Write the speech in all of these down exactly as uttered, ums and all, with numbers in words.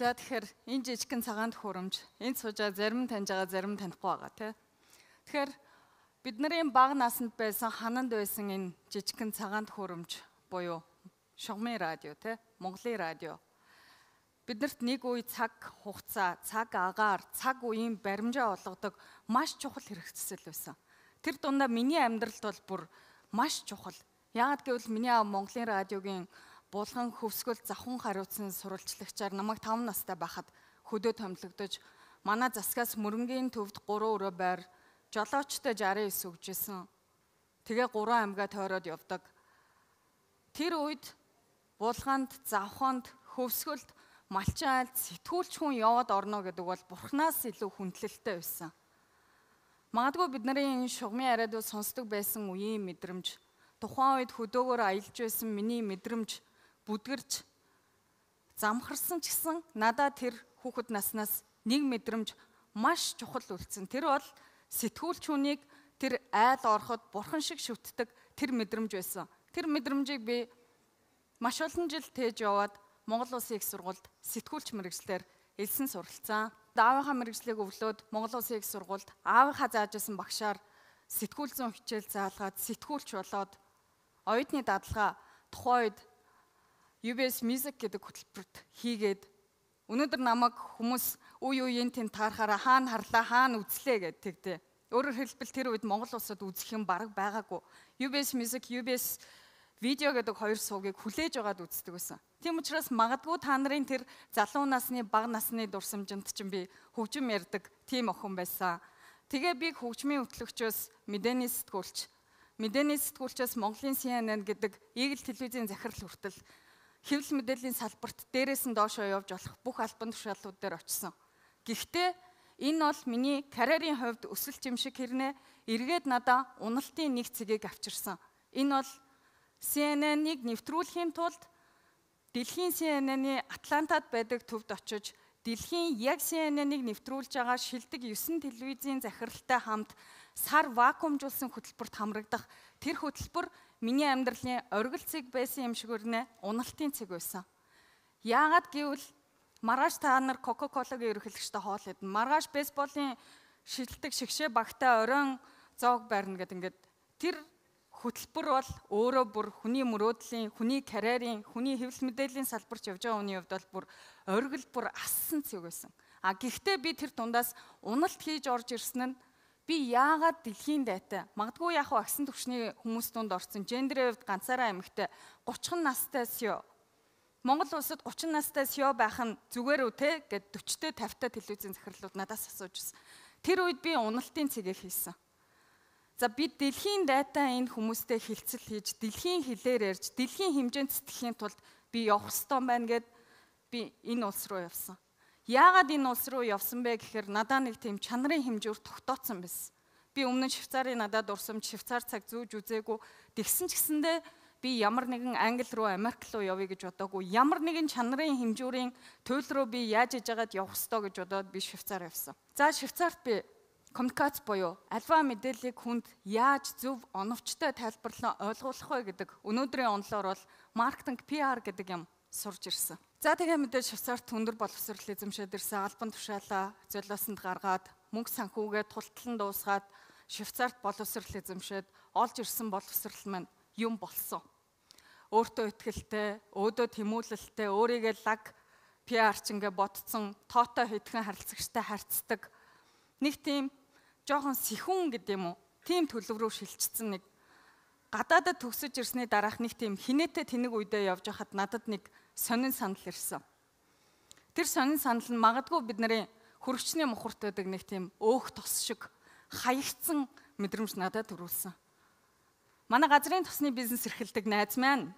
За тэгэхээр энэ жижигхэн цагаан төхөөрөмж энэ суужаа зарим таньж байгаа, зарим танихгүй байгаа тий. Тэгэхээр бидний бага наснд байсан хананд байсан энэ жижигхэн цагаан төхөөрөмж буюу Шугамын радио тий, Монголын радио. Биднэрт нэг үе цаг хугацаа, цаг агаар, цаг үеийн баримжаа олгодог маш чухал хэрэгцэл байсан. Тэр дундаа миний амьдралд бол бүр маш чухал. Яагаад гэвэл миний аав Монголын радиогийн Булган хөвсгөл завхан хариуцсан сурвалжлагчаар намайг таван настай байхад хөдөө томилогдож, манай засгаас мөрөнгийн төвд гурван өрөө байр, жолоочтой жарын ес өгжсэн. Тэгээ гурван аймгаа тойроод явдаг. Тэр үед Булганд, завханд, хөвсгөлд малчин айлд сэтгүүлч хүн яваад орно гэдэг бол Бурханаас илүү хүндлэлтэй байсан. Магадгүй бидний энэ Шугамын радио сонсдог байсан үеийн мэдрэмж, тухайн үед хөдөөгөөр аялж байсан миний мэдрэмж бүдгэрч замхарсан ч гэсэн надад тэр хүүхэд наснаас нэг мэдрэмж маш чухал үлдсэн. Тэр бол сэтгүүлч хүнийг тэр айл ороход бурхан шиг шүтдэг тэр мэдрэмж байсан. Тэр мэдрэмжийг би маш олон жил тээж яваад Монгол Улсын их сургуульд сэтгүүлч мэргэжлэр элсэн суралцсан. Аавынхаа мэргэжлийг өвлөөд Монгол Улсын их сургуульд аавынхаа заажсан багшаар сэтгүүл зүйн хичээл заалгаад сэтгүүлч болоод оюутны дадлага тухайн үед ю би эс Music гэдэг хөтөлбөрт хийгээд өнөөдөр намайг хүмүүс үе үеийн тэнд таарахаараа хаана харлаа, хаана үзлээ гэдэг. Өөрөөр хэлбэл тэр үед Монгол улсад үзэх юм бараг байгаагүй. ю би эс Music, ю би эс Video гэдэг хоёр суугийг хүлээж аваад үздэг байсан. Тийм учраас магадгүй та нарын тэр залуу насны, бага насны дурсамжинд чинь би хөгжим ярьдаг тийм охин байсан. Тэгээ би хөгжмийн хөтлөгчөөс мэдээний сэтгүүлч, мэдээний сэтгүүлчээс Монголын си эн эн гэдэг Игэл телевизийн захирал хүртэл хэвлэл мэдээллийн салбарт дээрээс нь доошоо явж болох бүх албан тушаалууд дээр очсон. Гэхдээ энэ бол миний карьерийн хувьд өсөлт юм шиг хэрнээ эргээд надаа уналтын нэг цэгийг авчирсан. Энэ бол си эн эн-ийг нэвтрүүлэхийн тулд дэлхийн си эн эн-ийн Атлантад байдаг төвд очиж дэлхийн яг си эн эн-ийг нэвтрүүлж байгаа шилдэг есөн телевизийн захиралтай хамт сар вакуумжуулсан хөтөлбөрт хамрагдах тэр хөтөлбөр миний амьдралын оргил цэг байсан юм шиг өрнө уналтын цэг байсан. Яагаад гэвэл маргааш та нар Кока-Колагийн ерөнхийлөгчтэй хоол идэн, маргааш бейсболын шилдэг шигшээ багтаа оройн зоог барьна гэдэг ингээд тэр хөтөлбөр бол өөрөө бүр хүний мөрөөдлийн, хүний карьерийн, хүний хэвлэл мэдээллийн салбарт явж байгаа хүний хувьд бол бүр оргил бүр ассан цэг байсан. А гэхдээ би тэр дундаас уналт хийж орж ирсэн нь би яагаад дэлхийн дайтай, магадгүй яг агсан төвшний хүмүүс дунд орсон гендерийн хувьд ганцаараа эмэгтэй гучин настай сё. Монгол улсад гучин настай сё байх нь зүгээр үү те гэд forty-тэй fifty-тай телевизийн захирлууд надаас асууж байсан. Тэр үед би уналтын цэгийг хийсэн. За би дэлхийн дайтай энэ хүмүүстэй хилцэл хийж, дэлхийн хэлээр ярьж, дэлхийн хэмжээнд сэтгэхийн тулд би явах ёстой байна гэд би энэ улс руу явсан. Яагаад энэ улс руу явсан бэ гэхээр надад нэг тийм чанарын хэмжүүр тогтооцсон байсан. Би өмнө нь Швейцарын надад дурсамж Швейцар цаг зүүж үзээгүй. Тэгсэн ч гэсэндээ би ямар нэгэн Англи руу, Америк руу явъя гэж бодоогүй. Ямар нэгэн чанарын хэмжүүрийн туйл руу би яаж ижагаад явах ёстой гэж бодоод би Швейцар явсан. За Швейцарт би коммуникац буюу альва мэдээллийг хүнд яаж зөв оновчтой тайлбарлан ойлгуулах вэ гэдэг өнөөдрийн онолоор бол маркетинг пи ар гэдэг юм сурж ирсэн. За тэгээ мэдээж Швейцарт өндөр боловсрол эзэмшээд ирсэн, албан тушаалаа золиосонд гаргаад, мөнгө санхүүгээ тултлан дуусгаад Швейцарт боловсрол эзэмшээд олж ирсэн боловсрол маань юм болсон. Өөртөө итгэлтэй, өөдөө тэмүүлэлтэй, өөрийгөө лаг пи арч ингээ ботцсон, тоотой хэдхэн харилцагчтай харьцдаг нэг тийм жоохон сэхүүн гэдэг юм уу? Тийм төлөв рүү шилжчихсэн нэг гадаадад төгсөж ирсний дараах нэг тийм хинээтэй тэнэг үедээ явж хахад надад нэг сонин санал ирсэн. Тэр сонин санал нь магадгүй бидний хөрөгчний мухарт байдаг нэг тийм өөх тос шиг хаягдсан мэдрэмж надад төрүүлсэн. Манай газрын тосны бизнес эрхэлдэг найз маань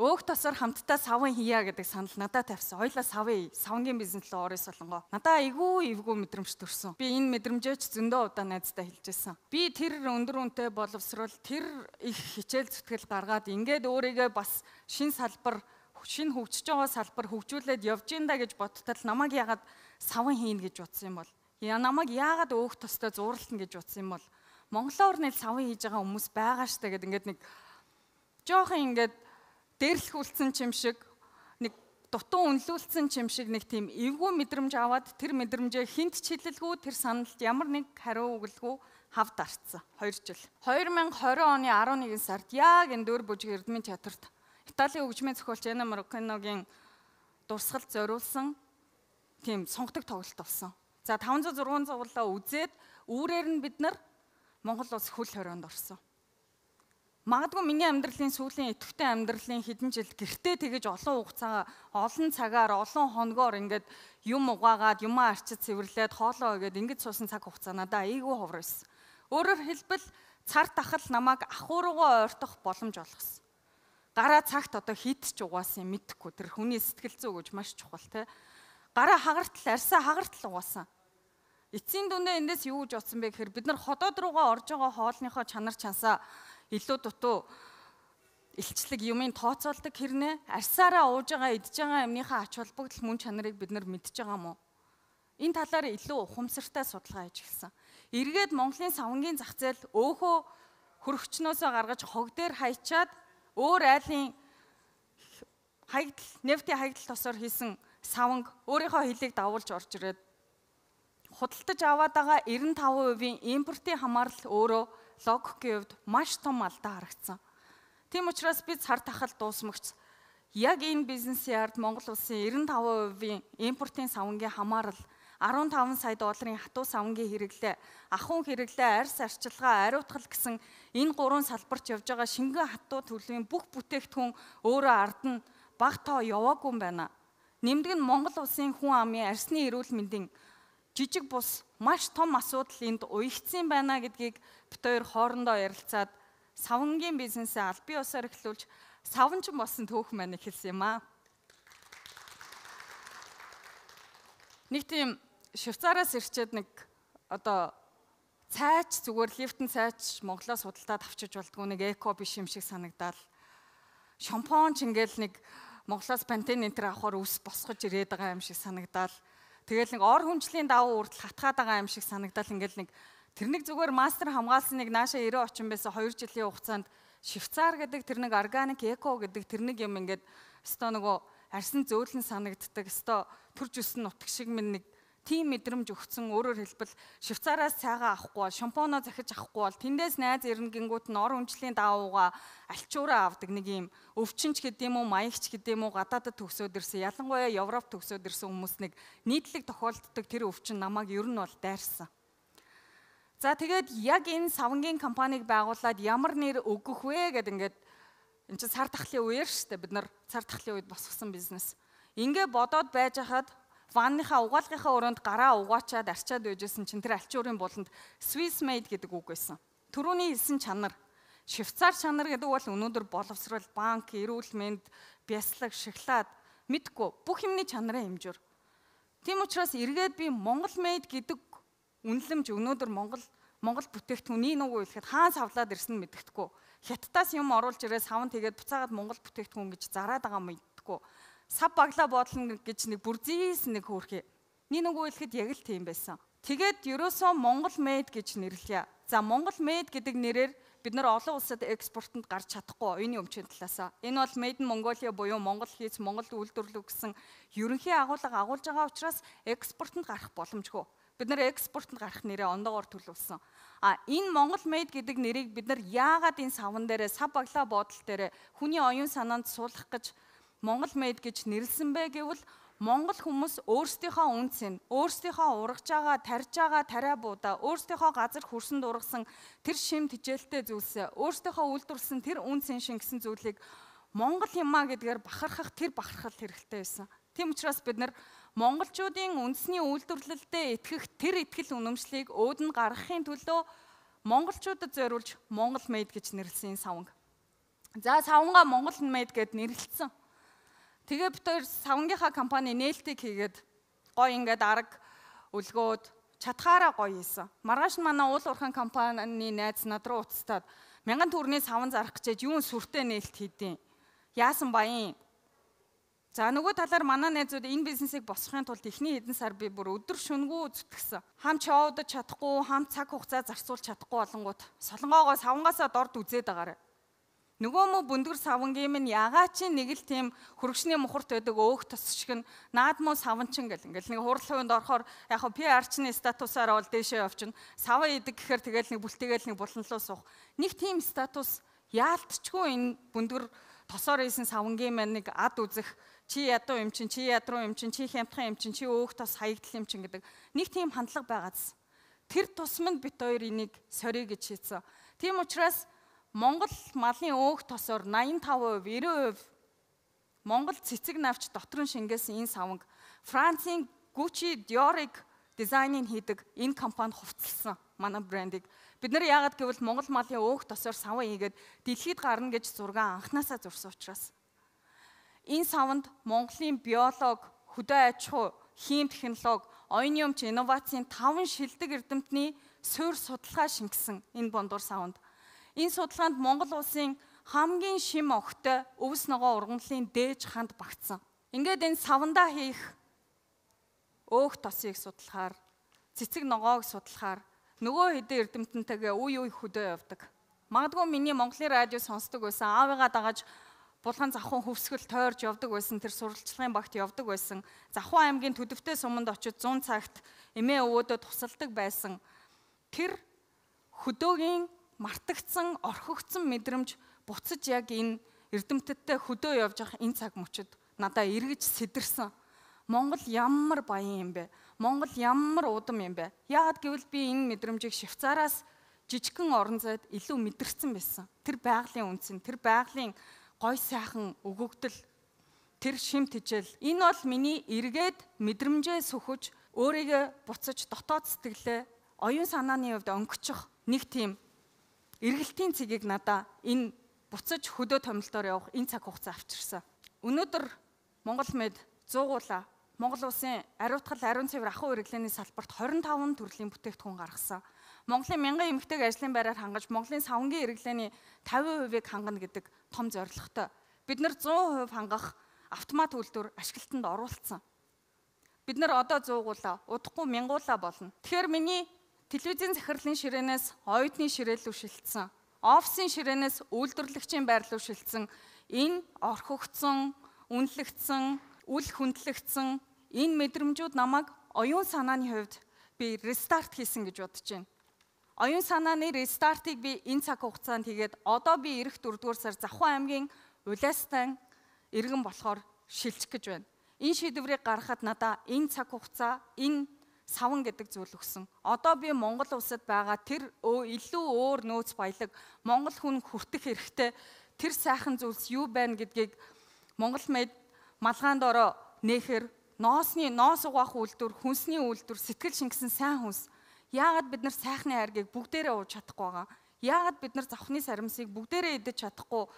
өөх тосоор хамтдаа савн хийя гэдэг санал надад тавьсан. Хоёлаа савын, савнгийн бизнес руу орё солонгоо. Надаа айгүй эвгүй мэдрэмж төрсөн. Би энэ мэдрэмжөөч зөндөө удаа найздаа хэлжсэн. Би тэр өндөр үнэтэй боловсрол, тэр их хичээл зүтгэл гаргаад ингээд өөрийгөө бас шин салбар, шин хөгжиж байгаа салбар хөгжүүлээд явж ин да гэж бодтол намайг яагаад савн хийнэ гэж бодсон юм бол? Яа намайг яагаад өөх тостой зууралтна гэж бодсон юм бол? Монголоор нэл савн хийж байгаа хүмүүс байгаа штэ гэд ингээд нэг жоохон ингээд дээрлэх үлдсэн чим шиг нэг дутуу үнэлүүлсэн ч юм шиг нэг тийм эвгүй мэдрэмж аваад тэр мэдрэмжээ хинт ч хэлэлгүй тэр саналд ямар нэг хариу өгөлгүй хавд арцсан хоёр жил. хоёр мянга и двадцать оны арван нэгэн сард яг энэ Дөөр Бүжиг Эрдмийн театрт Италийн хөгжмийн зохиолч Энно Морриканогийн дурсгалд зориулсан тийм сонгодог тоглолт болсон. За таван зуун зургуун зуглаа үзээд үүрээр нь бид нар Монгол улс хөл хорионд орсон. Магадгүй миний амьдралын сүүлийн идэвхтэй амьдралын хэдэн жил гэртээ тэгэж олон хугацаа, олон цагаар, олон хоногоор ингээд юм угаагаад, юмаа арчиж цэвэрлээд, хоолоо өгөөд ингэж суусан цаг хугацаа надад айгүй ховор байсан. Өөрөөр хэлбэл цар тахал намайг ахууруугаа ойртох боломж олгосон. Гараа цагт одоо хит ч угаасан мэдэхгүй тэр хүний сэтгэл зүй гэж маш чухал те. Гараа хагартал, арьсаа хагартал угаасан. Эцсийн дүндээ эндээс юу гэж утсан бэ гэхээр бид нар ходоод руугаа орж байгаа хоолныхоо чанар чансаа илүү дутуу илчлэг юмын тооцоолдог хэрнээ арьсаараа ууж байгаа идж байгаа юмныхаа ач холбогдол мөн чанарыг бид нар мэдж байгаа мó. Энэ талаар илүү ухамсартай судалгаа хийж эхэлсэн. Эргээд Монголын савангийн зах зээл өөхөө хөрөгчнөөсөө гаргаж хог дээр хайчаад өөр айлын хаягдал, нефтийн хаягдал тосоор хийсэн саванг өөрийнхөө хилийг давуулж орж ирээд худалдаж аваад байгаа девяносто пять процент-ийн импортын хамаарал өөрөө логикийн хувьд маш том алдаа харагдсан. Тийм учраас бид цар тахал дуусмагч яг энэ бизнесийн ард Монгол улсын девяносто пять процент-ийн импортын савангийн хамаарал арван таван сая долларын хатуу савангийн хэрэглээ, ахуйн хэрэглээ, арьс арчилгаа, ариутгал гэсэн энэ гурван салбарт явж байгаа шингэн хатуу төлөвийн бүх бүтээгдэхүүн өөрөө ард нь бага тоо яваагүй юм байна. Нэмдэг нь Монгол улсын хүн амын арсны эрүүл мэндийн жижиг бус маш том асуудал энд уягдсан байна гэдгийг бид хоёр хоорондоо ярилцаад савангийн бизнесээ аль бие усаар эхлүүлж саванчин болсон төөх маань эхэлсэн юм аа. Нэг тийм Швейцараас ирчээд нэг одоо цайч зүгээр лифтэн цайч Монголоос худалдаад авчиж болдгоо нэг эко биш юм шиг санагдал. Шампунь ч ингээл нэг Монголоос Пантен энтер авахаар ус босгож ирээд байгаа юм шиг санагдал. Тэгэл нэг ор хүнчлийн давуу үрдэл хатгаад байгаа юм шиг санагдал. Ингээл нэг тэр нэг зүгээр мастер хамгаалсан нэг нааша ирээ очин байсан хоёр жилийн хугацаанд Швейцар гэдэг тэр нэг органик эко гэдэг тэр нэг юм ингээд өстой нөгөө арьсан зөөлөн санагддаг. Өстой төрж өссөн нутг шиг минь нэг тийм мэдрэмж өгцөн. Өөрөөр хэлбэл Швейцараас цайгаа авахгүй бол шампуноо захиж авахгүй бол тэндээс найз ирнэ гингүүт нь ор хүнчлийн давууга альчуураа авдаг нэг юм өвчнч гэдэм үү, маягч гэдэм үү, гадаадд төгсөөд ирсэн. Ялангуяа Европ төгсөөд ирсэн хүмүүс нэг нийтлэг тохиолддог тэр өвчин намайг ер нь бол дайрсан. За тэгээд яг энэ савангийн компанийг байгуулад ямар нэр өгөх вэ гэд ингээд энэ чинь цар тахлын үеэр штэ бид нар цар тахлын үед босгосон бизнес. Ингээ бодоод байж хахад ванныхаа угаалгынхаа өрөөнд гараа угаачаад арчаад байжсэн чинь тэр альчуурын буланд Swiss made гэдэг үг байсан. Төрөүний хэлсэн чанар Швейцар чанар гэдэг бол өнөөдөр боловсрол, банк, эрүүл мэнд, бяцлаг, шоколад мэдгүй бүх юмны чанараа хэмжүүр. Тийм учраас эргээд би Монгол made гэдэг үнэлэмж өнөөдөр Монгол Монгол бүтээгдэхүүн нэг үг хэлэхэд хаан савлаад ирсэн нь мэддэхгүй. Хятадаас юм оруулж ирээ савн тэгээд буцаагаад Монгол бүтээгдэхүүн гэж зараад байгаа мэддэхгүй. Сав баглаа бодлон гэж нэг бүрзийс нэг хөөрхий. Нэг нэг үг хэлэхэд яг л тийм байсан. Тэгээд ерөөсөө Монгол made гэж нэрлэе. За Монгол made гэдэг нэрээр бид нар олон улсад экспортод гарч чадахгүй оюуны өмчийн талаасаа. Энэ бол Made in Mongolia буюу Монгол хийц Монголд үйлдвэрлэв гэсэн ерөнхий агуулга агуулж байгаа учраас экспортод гарах боломжгүй. Бид нар экспортод гарах нэрээ ондоогоор төлөвлөсөн. А энэ Монгол made гэдэг нэрийг бид нар яагаад энэ савн дээрээ сав баглаа бодол дээрээ хүний оюун санаанд суулгах гэж Монгол made гэж нэрлсэн бэ гэвэл Монгол хүмүүс өөрсдийнхөө үнцэн, өөрсдийнхөө ургаж байгаа, тарж байгаа тариа буудаа, өөрсдийнхөө газар хөрсөнд ургасан тэр шим тижээлтэй зүйлсээ, өөрсдийнхөө үйлдвэрлэсэн тэр үнцэн шингэсэн зүйлийг Монгол юмаа гэдгээр бахархах тэр бахархал хэрэгтэй байсан. Тийм учраас бид нар монголчуудын үндэсний үйлдвэрлэлдээ итгэх тэр итгэл үнэмшлийг өөд нь гаргахын төлөө монголчуудад зориулж Монгол made гэж нэрлсэн саванг. За савнгаа Монгол made гэд нэрлэлсэн. Тэгээ бид хоёр савангийнхаа компани нээлтийг хийгээд гоё ингээд арга үлгөөд чадхаараа гоё хийсэн. Маргааш нь манай уул уурхайн компанийн найз над руу уцтаад мянган төгрөгийн саван зарах гэж юун сүртэй нээлт хийдیں۔ Яасан баян. За нөгөө талаар манай найзууд энэ бизнесийг босгохын тулд эхний хэдэн сар би бүр өдөр шөнөгүй зүтгэсэн. Хам чоудаж чадахгүй, хам цаг хугацаа зарцуулж чадахгүй болонгууд солонгоогоо савангаасаа дорд үзээд байгаарай. Нөгөө мө бүндгэр савангийн минь ягаа чи нэг л тийм хөргөшний мухарт байдаг өөх тос шиг нь наад муу саванчин гэл ингээл нэг хурал хувинд орохоор яг пи ар-чны статусаар бол дээшээ явчихна. Сава идэг гэхээр тэгэл нэг бүлтэгээл нэг буланлуу суух. Нэг тийм статус яалтчгүй энэ бүндгэр тосоор ийсэн савангийн маань нэг ад үзэх чи ядуу юм чин чи ядруу юм чин чи хямдхан юм чин чи өөх тос хаягдл юм чин гэдэг нэг тийм хандлага байгааз. Тэр тусманд бит хоёр энийг сорё гэж хийсэн. Тийм учраас Монгол малын өөх тосоор найман таван хувь, нэрвэн хувь Монгол цэцэг навч дотор нь шингээсэн энэ саванг Францын Gucci, Dior-ыг дизайныг хийдэг энэ компани хувцалсан манай брендийг. Бид нар яагаад гэвэл Монгол малын өөх тосоор саван хийгээд дэлхийд гарна гэж зургаан анханасаа зурсан учраас. Энэ саванд Монголын биолог, хөдөө аж ахуй, хим технологи, оюуны өмч инновацийн таван шилдэг эрдэмтний суурь судалгаа шингэсэн энэ бондор саванд. Энэ судалгаанд Монгол улсын хамгийн шим огтой өвс ногоо ургамлын дээж ханд багтсан. Ингээд энэ савандаа хийх өөх тосыг судлахаар, цэцэг ногоог судлахаар нөгөө хэдэн эрдэмтэнтэйгээ үе үе хөдөө явдаг. Магадгүй миний Монголын радио сонсдог байсан, аавыгаа дагаж булган завхан хөвсгөл тойрж явдаг байсан, тэр сурвалжлагын багт явдаг байсан. Завхан аймгийн Төдөвтэй суманд очиж зуун цагт эмээ өвөөдөө тусалдаг байсан. Тэр хөдөөгийн мартагдсан, орхигдсон мэдрэмж буцаж яг энэ эрдэмтдтэй хөдөө явж явах энэ цаг мөчид надаа эргэж сэдэрсэн. Монгол ямар баян юм бэ? Монгол ямар удам юм бэ? Яагаад гэвэл би энэ мэдрэмжийг Швейцараас жижигхэн орон зайд илүү мэдэрсэн байсан. Тэр байгалийн үнцэн, тэр байгалийн гой сайхан өгөгдөл, тэр шим тижэл. Энэ бол миний эргээд мэдрэмжээ сөхөж, өөрийгөө буцаж дотоод сэтгэлээ, оюун санааны хувьд өнгөчих нэг тийм эргэлтийн цэгийг надаа энэ буцаж хөдөө томилтоор явах энэ цаг хугацаа авчирсан. Өнөөдөр Монгол Мед зуугуулаа Монгол улсын ариутгал ариун цэвэр ахуй хэрэглээний салбарт хорин таван төрлийн бүтээгдэхүүн гаргасан. Монголын мянган эмэгтэйг ажлын байраар хангаж Монголын савангийн хэрэглээний тавин хувийг хангана гэдэг том зорилготой. Бид нар зуун хувь хангах автомат үйлдвэр ашиглалтанд оруулсан. Бид нар одоо зуугуулаа, удахгүй мянгуулаа болно. Тэгэхээр миний телевизийн захирлын ширээнээс оюутны ширээл рүү шилжсэн, офисын ширээнээс үйлдвэрлэгчийн байр руу шилжсэн энэ орхигдсон, үнэлэгдсэн, үл хөндлөгдсөн энэ мэдрэмжүүд намайг оюун санааны хувьд би рестарт хийсэн гэж бодож байна. Оюун санааны рестартыг би энэ цаг хугацаанд хийгээд одоо би ирэх дөрөвдүгээр сар Завхан аймгийн Улаастан иргэн болохоор шилжих гэж байна. Энэ шийдвэрийг гаргахад надаа энэ цаг хугацаа, энэ саван гэдэг зүйл өгсөн. Одоо би Монгол улсад байгаа тэр илүү өөр нөөц баялаг Монгол хүн хүртэх хэрэгтэй тэр сайхан зүйлс юу байна гэдгийг Монгол Мед малгаанд ороо нээхэр ноосны ноос угаах үйлдвэр, хүнсний үйлдвэр, сэтгэл шингэсэн сайн хүнс. Яагаад бид нар сайхны хайргийг бүгдээрээ ууж чадахгүй байгаа? Яагаад бид нар завхны сарамсыг бүгдээрээ идэж чадахгүй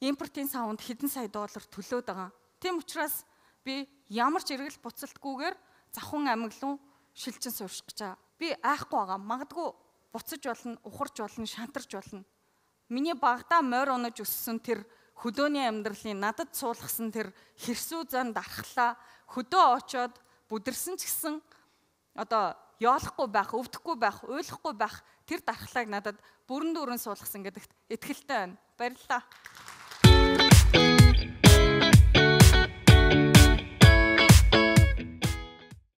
импортын саванд хэдэн сая доллар төлөөд байгаа? Тийм учраас би ямар ч эргэл буцалтгүйгээр Завхан аймаг руу шилжин суурших гэж байгаа. Би айхгүй байгаа. Магадгүй буцаж болно, ухарч болно, шантарч болно. Миний багадаа морь унаж өссөн тэр хөдөөний амьдралын надад суулгасан тэр хэрсүү зан дархлаа хөдөө очоод бүдэрсэн ч гэсэн одоо яолохгүй байх, өвдөхгүй байх, уйлахгүй байх тэр дархлааг надад бүрэн дүүрэн суулгасан гэдэгт итгэлтэй байна. Баярлалаа.